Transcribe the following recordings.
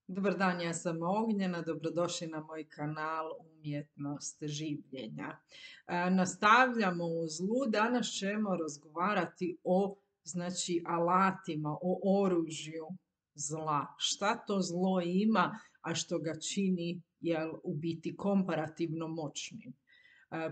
Dobar dan, ja sam Ognjena, dobrodošli na moj kanal Umjetnost življenja. Nastavljamo u zlu, danas ćemo razgovarati o alatima, o oružju zla. Šta to zlo ima, a što ga čini u biti komparativno moćnim.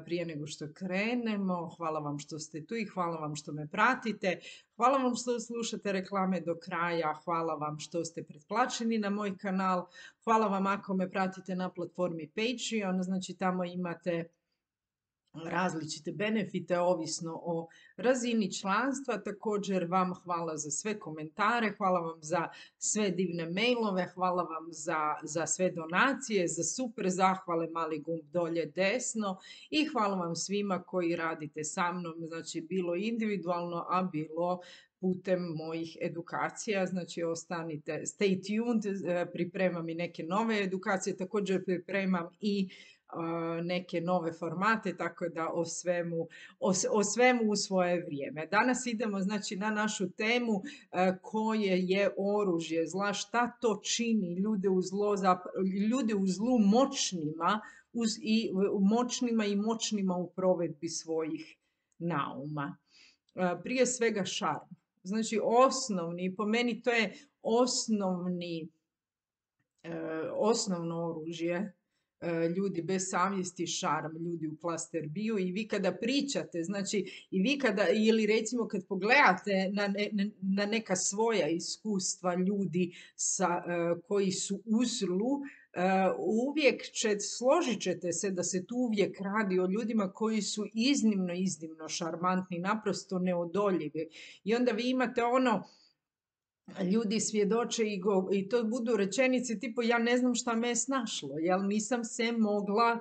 Prije nego što krenemo, hvala vam što ste tu i hvala vam što me pratite. Hvala vam što slušate reklame do kraja, hvala vam što ste pretplaćeni na moj kanal, hvala vam ako me pratite na platformi Patreon, znači tamo imate različite benefite ovisno o razini članstva. Također vam hvala za sve komentare, hvala vam za sve divne mailove, hvala vam za sve donacije, za super zahvale, mali gumb dolje desno i hvala vam svima koji radite sa mnom, znači bilo individualno, a bilo putem mojih edukacija, znači ostanite, stay tuned, pripremam i neke nove edukacije, također pripremam i neke nove formate, tako da o svemu u svoje vrijeme. Danas idemo znači na našu temu koje je oružje zla, šta to čini ljude u zlu moćnima i moćnima u provedbi svojih nauma. Prije svega šarm. Znači osnovni, po meni to je osnovno oružje ljudi bez savjesti, šarm, ljudi u klaster bio. I vi kada pričate, znači i vi kada, ili recimo kad pogledate na neka svoja iskustva ljudi koji su u zlu, uvijek složit ćete se da se tu uvijek radi o ljudima koji su iznimno šarmantni, naprosto neodoljivi. I onda vi imate ljudi svjedoče i to budu rečenice tipu ja ne znam šta me je snašlo, jel nisam se mogla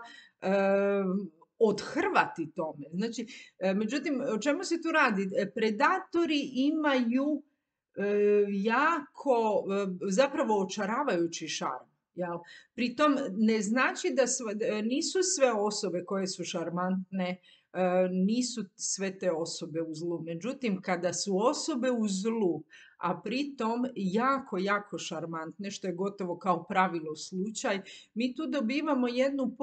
odhrvati tome. Znači, međutim, o čemu se tu radi? Predatori imaju jako, zapravo očaravajući šarm. Jel? Pritom ne znači da nisu sve osobe koje su šarmantne, nisu sve te osobe u zlu. Međutim, kada su osobe u zlu, a pritom jako šarmantne, što je gotovo kao pravilo slučaj, mi tu dobivamo jednu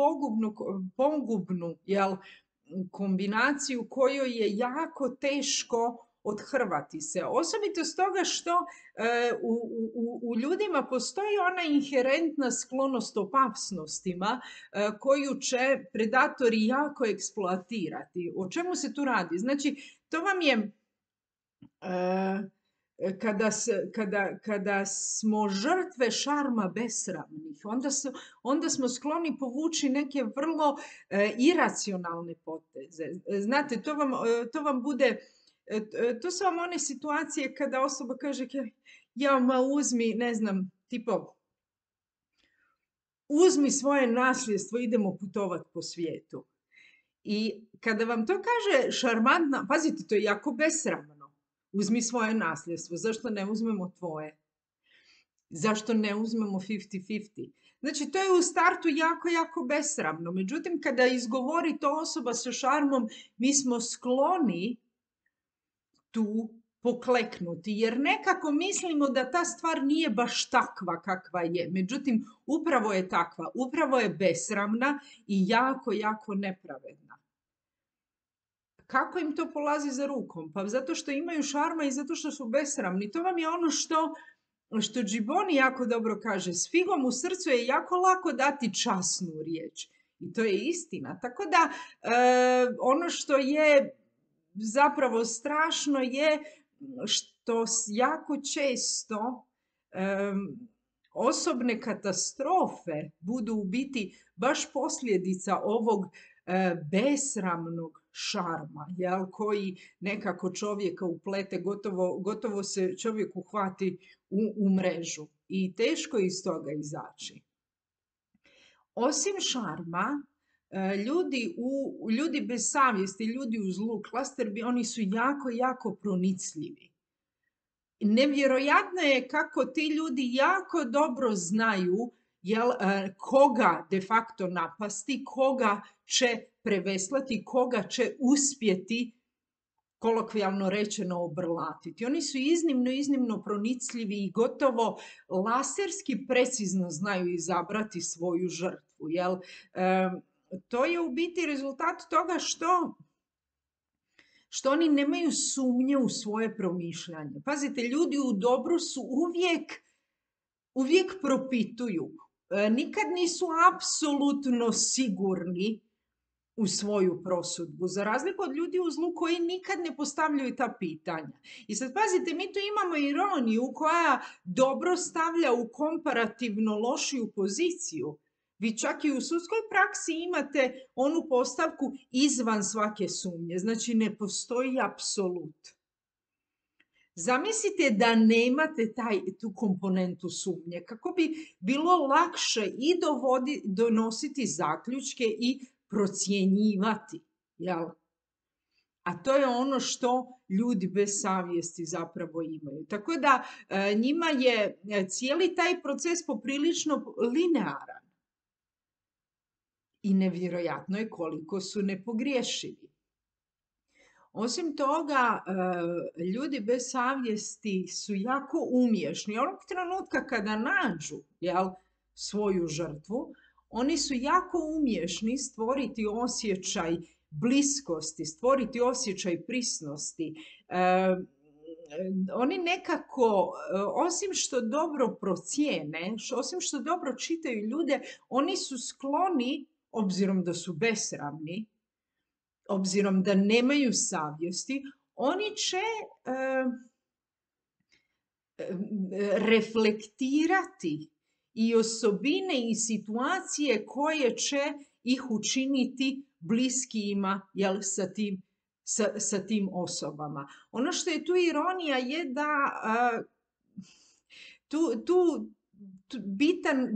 pogubnu kombinaciju kojoj je jako teško odhrvati se. Osobito stoga što u ljudima postoji ona inherentna sklonost opasnostima koju će predatori jako eksploatirati. O čemu se tu radi? Znači, to vam je kada smo žrtve šarma besramnih, onda smo skloni povući neke vrlo iracionalne poteze. Znate, to vam bude, to su vam one situacije kada osoba kaže ja ma uzmi, ne znam, tipo uzmi svoje nasljedstvo, idemo putovat po svijetu. I kada vam to kaže šarmantna, pazite, to je jako besramno. Uzmi svoje nasljedstvo, zašto ne uzmemo tvoje? Zašto ne uzmemo 50-50? Znači, to je u startu jako besramno. Međutim, kada izgovori to osoba sa šarmom, mi smo skloni tu pokleknuti, jer nekako mislimo da ta stvar nije baš takva kakva je. Međutim, upravo je takva, upravo je besramna i jako nepravedna. Kako im to polazi za rukom? Pa zato što imaju šarma i zato što su besramni. To vam je ono što Džiboni jako dobro kaže. S figom u srcu je jako lako dati časnu riječ. I to je istina. Tako da ono što je zapravo strašno je što jako često osobne katastrofe budu u biti baš posljedica ovog besramnog šarma, koji nekako čovjeka uplete, gotovo se čovjek uhvati u mrežu i teško je iz toga izaći. Osim šarma, ljudi bez savjesti, ljudi u zlu, klaster, oni su jako pronicljivi. Nevjerojatno je kako ti ljudi jako dobro znaju koga de facto napasti, koga će preveslati, koga će uspjeti kolokvijalno rečeno obrlatiti. Oni su iznimno, iznimno pronicljivi i gotovo laserski precizno znaju izabrati svoju žrtvu. Jel? To je u biti rezultat toga što oni nemaju sumnje u svoje promišljanje. Pazite, ljudi u dobru su uvijek propituju. Nikad nisu apsolutno sigurni u svoju prosudbu, za razliku od ljudi u zlu koji nikad ne postavljaju ta pitanja. I sad pazite, mi tu imamo ironiju koja dobro stavlja u komparativno lošiju poziciju. Vi čak i u sudskoj praksi imate onu postavku izvan svake sumnje, znači ne postoji apsolut. Zamislite da nemate tu komponentu sumnje, kako bi bilo lakše i donositi zaključke i procjenjivati. Jel? A to je ono što ljudi bez savjesti zapravo imaju. Tako da njima je cijeli taj proces poprilično linearan. I nevjerojatno je koliko su nepogriješivi. Osim toga, ljudi bez savjesti su jako umješni. Onog trenutka kada nađu svoju žrtvu, oni su jako umješni stvoriti osjećaj bliskosti, stvoriti osjećaj prisnosti. Oni nekako, osim što dobro procijene, osim što dobro čitaju ljude, oni su skloni, obzirom da su besramni, obzirom da nemaju savjesti, oni će reflektirati i osobine i situacije koje će ih učiniti bliskijima sa tim osobama. Ono što je tu ironija je da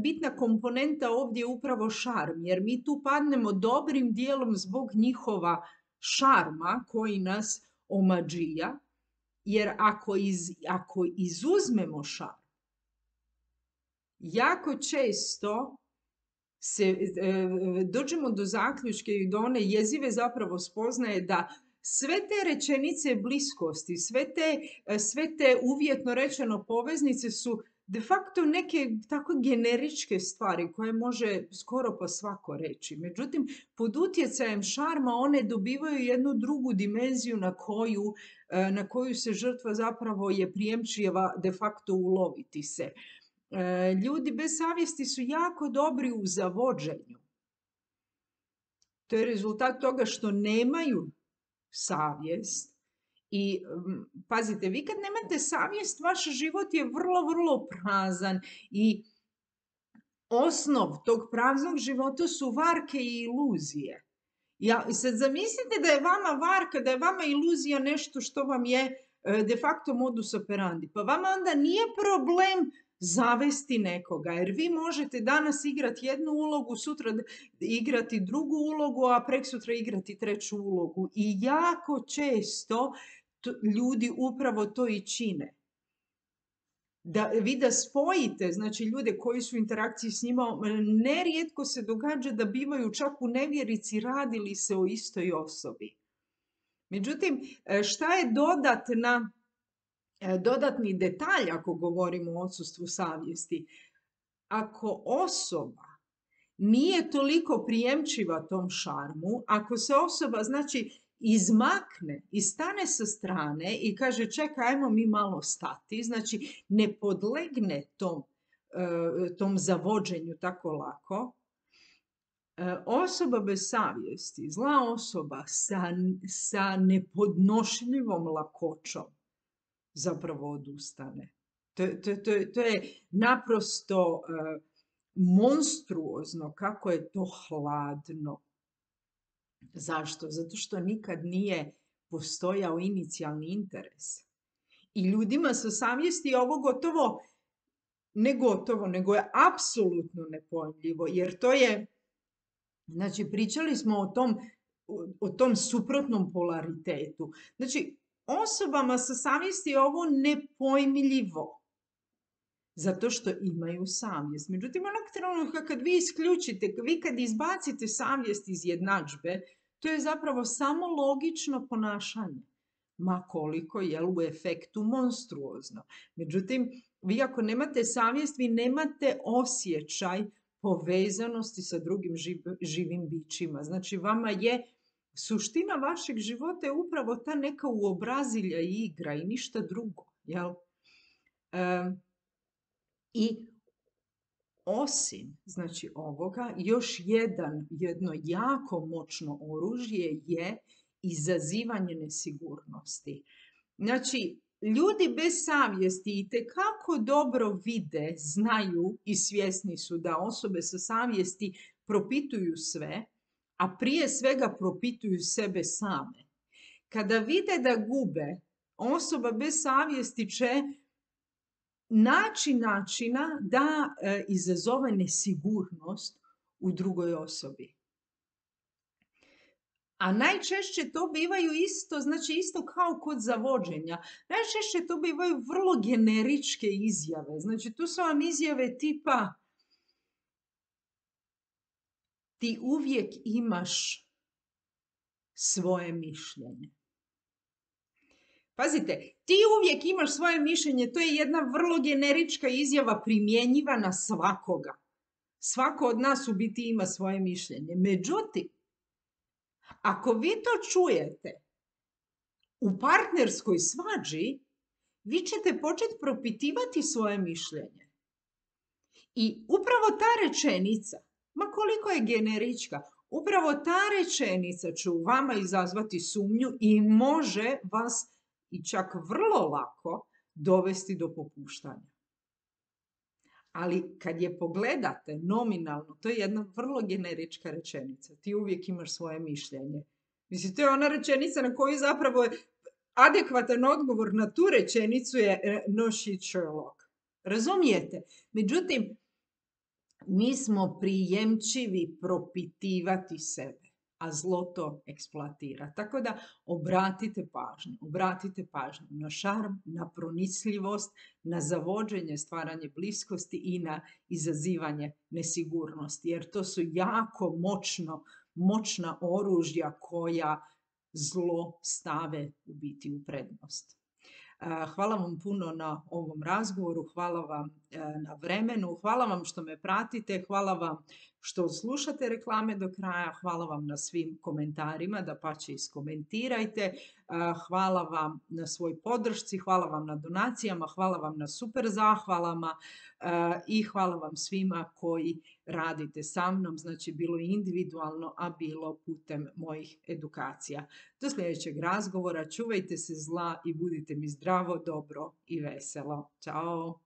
bitna komponenta ovdje je upravo šarm, jer mi tu padnemo dobrim dijelom zbog njihova šarma koji nas omađija, jer ako izuzmemo šarm, jako često dođemo do zaključke i do one jezive zapravo spoznaje da sve te rečenice bliskosti, sve te uvjetno rečeno poveznice su de facto neke tako generičke stvari koje može skoro pa svako reći. Međutim, pod utjecajem šarma one dobivaju jednu drugu dimenziju na koju se žrtva zapravo je prijemčiva de facto uloviti se. Ljudi bez savjesti su jako dobri u zavođenju. To je rezultat toga što nemaju savjest. I pazite, vi kad nemate savjest, vaš život je vrlo, vrlo prazan i osnov tog praznog života su varke i iluzije. Sad zamislite da je vama varka, da je vama iluzija nešto što vam je de facto modus operandi. Pa vama onda nije problem zavesti nekoga, jer vi možete danas igrati jednu ulogu, sutra igrati drugu ulogu, a preksutra igrati treću ulogu. I jako često ljudi upravo to i čine. Vi da spojite, znači ljude koji su u interakciji s njima, nerijetko se događa da bivaju čak u nevjerici radili se o istoj osobi. Međutim, šta je dodatni detalj ako govorimo o odsustvu savjesti? Ako osoba nije toliko prijemčiva tom šarmu, ako se osoba izmakne i stane sa strane i kaže čekaj, ajmo mi malo stati, znači ne podlegne tom zavođenju tako lako, osoba bez savjesti, zla osoba sa nepodnošljivom lakoćom zapravo odustane. To je naprosto monstruozno kako je to hladno. Zašto? Zato što nikad nije postojao inicijalni interes. I ljudima sa savjesti ovo nego je apsolutno nepojmljivo, jer to je, znači pričali smo o tom suprotnom polaritetu. Znači, osobama sa savjesti je ovo nepojmljivo, zato što imaju savjest. Međutim, onog trenutka kad vi isključite, vi kad izbacite savjest iz jednadžbe, to je zapravo samo logično ponašanje. ma koliko je u efektu monstruozno. Međutim, vi ako nemate savjest, vi nemate osjećaj povezanosti sa drugim živim bićima. Znači, vama je suština vašeg života je upravo ta neka uobrazilja i igra i ništa drugo. Jel? I osim, znači, ovoga, još jedno jako moćno oružje je izazivanje nesigurnosti. Znači, ljudi bez savjesti itekako dobro vide, znaju i svjesni su da osobe sa savjesti propituju sve, a prije svega propituju sebe same. Kada vide da gube, osoba bez savjesti će naći načina da izazove nesigurnost u drugoj osobi. A najčešće to bivaju isto kao kod zavođenja. Najčešće to bivaju vrlo generičke izjave. Znači, tu su vam izjave tipa ti uvijek imaš svoje mišljenje. Pazite, ti uvijek imaš svoje mišljenje, to je jedna vrlo generička izjava primjenjiva na svakoga. Svako od nas u biti ima svoje mišljenje. Međutim, ako vi to čujete u partnerskoj svađi, vi ćete početi propitivati svoje mišljenje. I upravo ta rečenica, ma koliko je generička, upravo ta rečenica će u vama izazvati sumnju i može vas i čak vrlo lako dovesti do popuštanja. Ali kad je pogledate nominalno, to je jedna vrlo generička rečenica. Ti uvijek imaš svoje mišljenje. Mislim, to je ona rečenica na koju zapravo adekvatan odgovor na tu rečenicu je no shit Sherlock. Razumijete? Međutim, mi smo prijemčivi propitivati sebe, a zlo to eksploatira. Tako da obratite pažnju na šarm, na pronicljivost, na zavođenje, stvaranje bliskosti i na izazivanje nesigurnosti. Jer to su jako moćna oružja koja zlo stave u biti u prednost. Hvala vam puno na ovom razgovoru, hvala vam na vremenu, hvala vam što me pratite, hvala vam što slušate reklame do kraja, hvala vam na svim komentarima, dapače iskomentirajte, hvala vam na svoj podršci, hvala vam na donacijama, hvala vam na super zahvalama i hvala vam svima koji radite sa mnom, znači bilo individualno, a bilo putem mojih edukacija. Do sljedećeg razgovora, čuvajte se zla i budite mi zdravo, dobro i veselo. Ćao!